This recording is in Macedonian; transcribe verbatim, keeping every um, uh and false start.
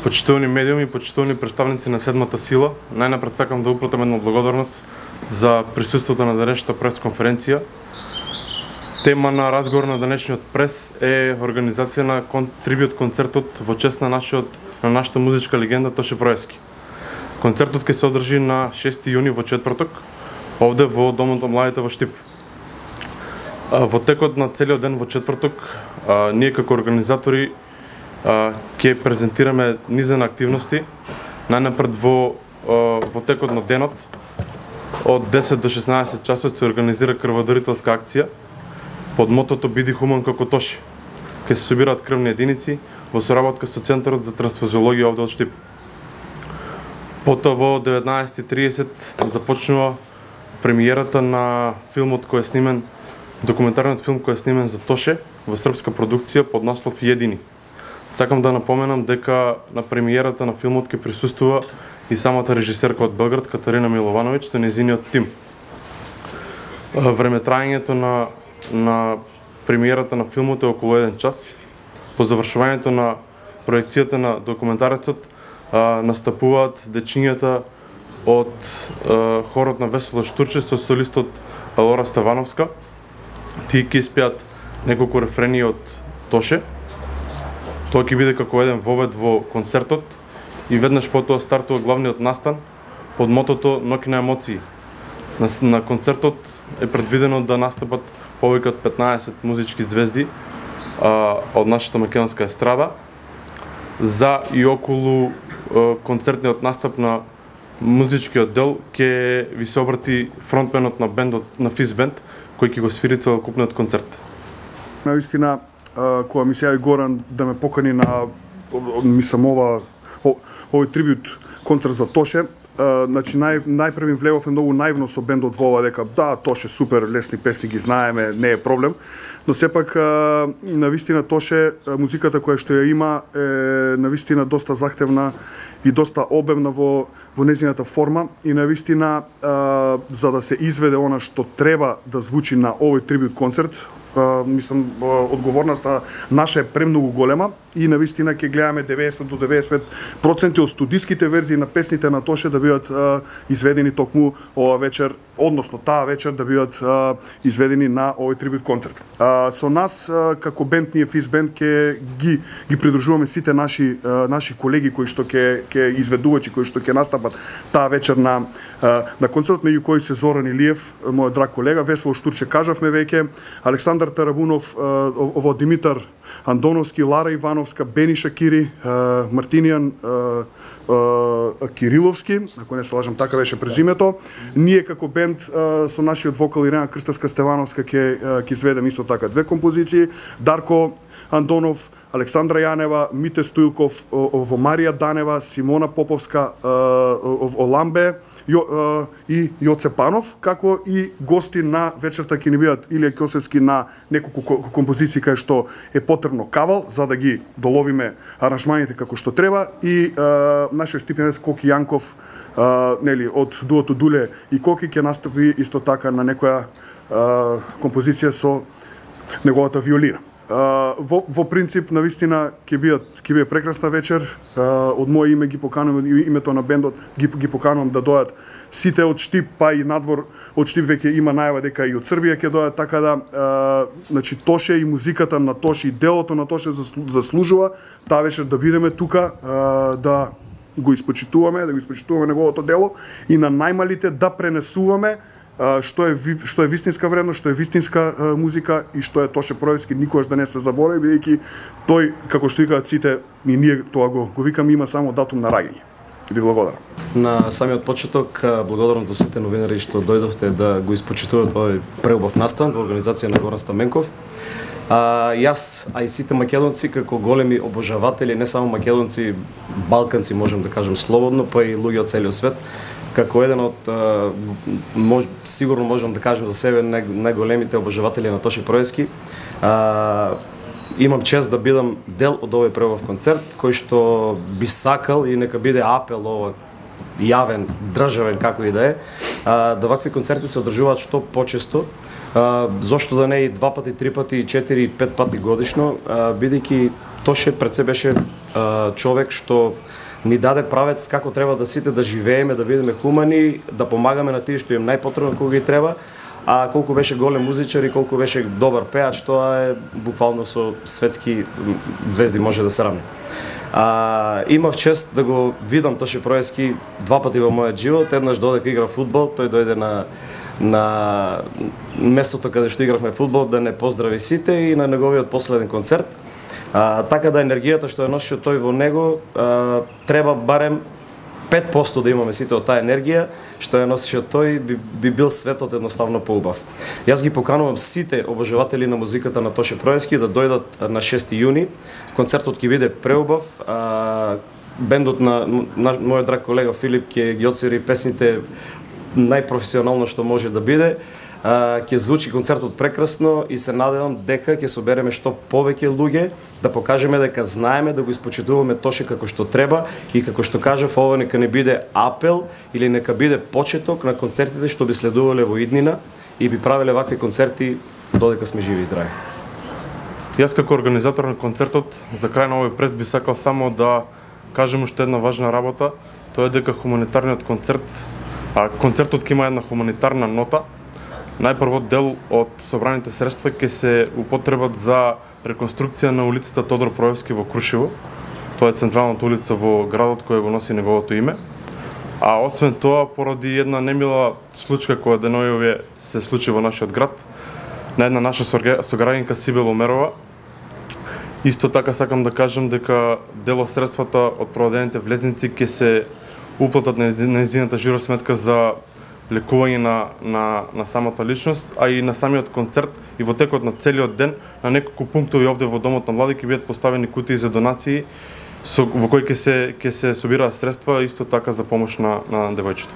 Почитувани медиуми, почитувани представници на седмата сила, најнапред сакам да упратам една благодарност за присуството на денешната пресконференција. Тема на разговор на денешниот прес е организација на кон... трибют концертот во чест на нашиот на нашата музичка легенда Тоше Проевски. Концертот ќе се одржи на шести јуни во четврток, овде во Домот на младите во Штип. Во текот на целиот ден во четврток, ние како организатори ќе презентираме низа на активности. Најнапред во во текот на денот од десет до шеснаесет часот се организира крводарителска акција под мотото "Биди хуман како Тоше". Ќе се собираат крвни единици во соработка со Центарот за трансфузиологија овде од Штип. Потоа во деветнаесет и тридесет започнува премиерата на филмот кој е снимен, документарниот филм кој е снимен за Тоше во српска продукција под наслов "Једини". Сакам да напоменам дека на премиерата на филмот ќе присуствува и самата режисерка од Белград Катарина Миловановиќ со нејзиниот тим. Времетраењето на на премиерата на филмот е околу еден час. По завршувањето на проекцијата на документарецот настапуваат дечињата од а, хорот на Весело Штурче со солистот Лора Ставановска. Тие ќе испеат неколку рефрени од Тоше. Тоа ќе биде како еден вовед во концертот и веднаш потоа стартува главниот настан под мотото "Ноќ на емоции". На, на концертот е предвидено да настапат повеќе од петнаесет музички звезди а, од нашата македонска естрада. За и околу а, концертниот настап на музичкиот дел ќе ви се обрати фронтменот на бендот на Физ Бенд, кој ќе го свири целокупниот концерт. Наистина, кога ми се јави Горан да ме покани на мислам ова овој трибют концерт за Тоше, значи нај најпрви влеговме многу наивно со бендот во ова дека да, Тоше супер, лесни песни ги знаеме, не е проблем, но сепак навистина Тоше музиката која што ја има е навистина доста захтевна и доста обемна во во нејзината форма и навистина за да се изведе она што треба да звучи на овој трибют концерт, Uh, мислам, uh, одговорноста наша е премногу голема и навистина ќе гледаме деветдесет до деветдесет проценти од студиските верзии на песните на Тоше да бидат uh, изведени токму ова вечер, односно таа вечер да бидат uh, изведени на овој трибют концерт. Uh, со нас uh, како бенд ние Физ Бенд ќе ги ги придружуваме сите наши uh, наши колеги кои што ќе ќе изведувачи кои што ќе настапат таа вечер на uh, на концертот, меѓу кои се Зоран Илиев, мојот драг колега, Весело Штурче кажавме веќе, Александар Тарабунов, ово Димитар Андоновски, Лара Ивановска, Бени Шакири, Мартинијан Кириловски, ако не се лажам така беше презимето. Ние како бенд со нашиот вокал Ирена Крстевска Стевановска ќе ќе изведеме исто така две композиции. Дарко Андонов, Александра Јанева, Мите Стоилков, во Марија Данева, Симона Поповска, Оламбе Јо, и Јоце Панов, како и гости на вечерта ќе ни бидат Илија Ќосевски на неколку композиции кај што е потребно кавал за да ги доловиме аранжманите како што треба и а, нашиот штипенец Коки Јанков, а, нели од дуото Дуле и Коки ќе настапи исто така на некоја а, композиција со неговата виолина. Uh, во, во принцип, навистина, ќе бидат ќе биде прекрасна вечер. Uh, од моје име ги поканувам, името на бендот ги, ги поканувам да дојдат сите од Штип, па и надвор од Штип веќе има најава дека и од Србија ќе дојдат, така да uh, значи Тоше и музиката на Тоше и делото на Тоше заслужува таа вечер да бидеме тука, uh, да го испочитуваме, да го испочитуваме неговото дело и на најмалите да пренесуваме што е што е вистинска вредност, што е вистинска а, музика и што е Тоше Проевски, никогаш да не се заборави, бидејќи тој, како што викаат сите, и ние тоа го, го викаме, има само датум на раѓање. Ви благодарам. На самиот почеток, благодарам за сите новинари што дојдовте да го испочитувате овој преубав настан во организација на Горан Стаменков. А, јас, а и сите македонци, како големи обожаватели, не само македонци, балканци, можем да кажем слободно, па и луѓе од целиот свет, како еден од, мож, сигурно можам да кажем за себе, најголемите обожаватели на Тоше Проевски, а, имам чест да бидам дел од овој преубав концерт, кој што би сакал и нека биде апел ова јавен, државен, како и да е, а, да вакви концерти се одржуваат што почесто, а, зошто да не и два пати, три пати, четири и пет пати годишно, бидејќи Тоше пред се беше а, човек што ни даде правец како треба да сите да живееме, да бидеме хумани, да помагаме на тие што им најпотребно кога ги треба, а колку беше голем музичар и колку беше добар пеач, тоа е буквално со светски звезди може да се равни. А, имав чест да го видам Тоше Проески два пати во мојот живот. Еднаш додека игра фудбал, тој дојде на на местото каде што игравме фудбал да не поздрави сите и на неговиот последен концерт. А, така да енергијата што е носил тој во него, а, треба барем пет посто да имаме сите од таа енергија што е носил тој, би, би бил светот едноставно поубав. Јас ги поканувам сите обожаватели на музиката на Тоше Проески да дојдат на шести јуни. Концертот ќе биде преубав. А, бендот на, на мојот драг колега Филип ќе ги отсвири песните најпрофесионално што може да биде. Uh, ќе звучи концертот прекрасно и се надевам дека ќе собереме што повеќе луѓе, да покажеме дека знаеме да го испочитуваме Тоше како што треба и како што кажав, ова нека не биде апел или нека биде почеток на концертите што би следувале во иднина и би правеле вакви концерти додека сме живи и здрави. Јас како организатор на концертот за крај на овој прес би сакал само да кажем уште една важна работа, тоа е дека хуманитарниот концерт, а концертот ќе има една хуманитарна нота. Најпрво дел од собраните средства ќе се употребат за реконструкција на улицата Тодор Проевски во Крушево. Тоа е централната улица во градот која го носи неговото име. А освен тоа, поради една немила случка која денојове се случи во нашиот град, на една наша сограѓанка Сибел Омерова, исто така сакам да кажам дека дел од средствата од продадените влезници ќе се уплатат на нејзината жиросметка за лекување на, на, на самата личност, а и на самиот концерт и во текот на целиот ден на неколку пунктови овде во Домот на млади ќе бидат поставени кутии за донации со, во кои ќе се ќе се собираат средства исто така за помош на, на девојчето.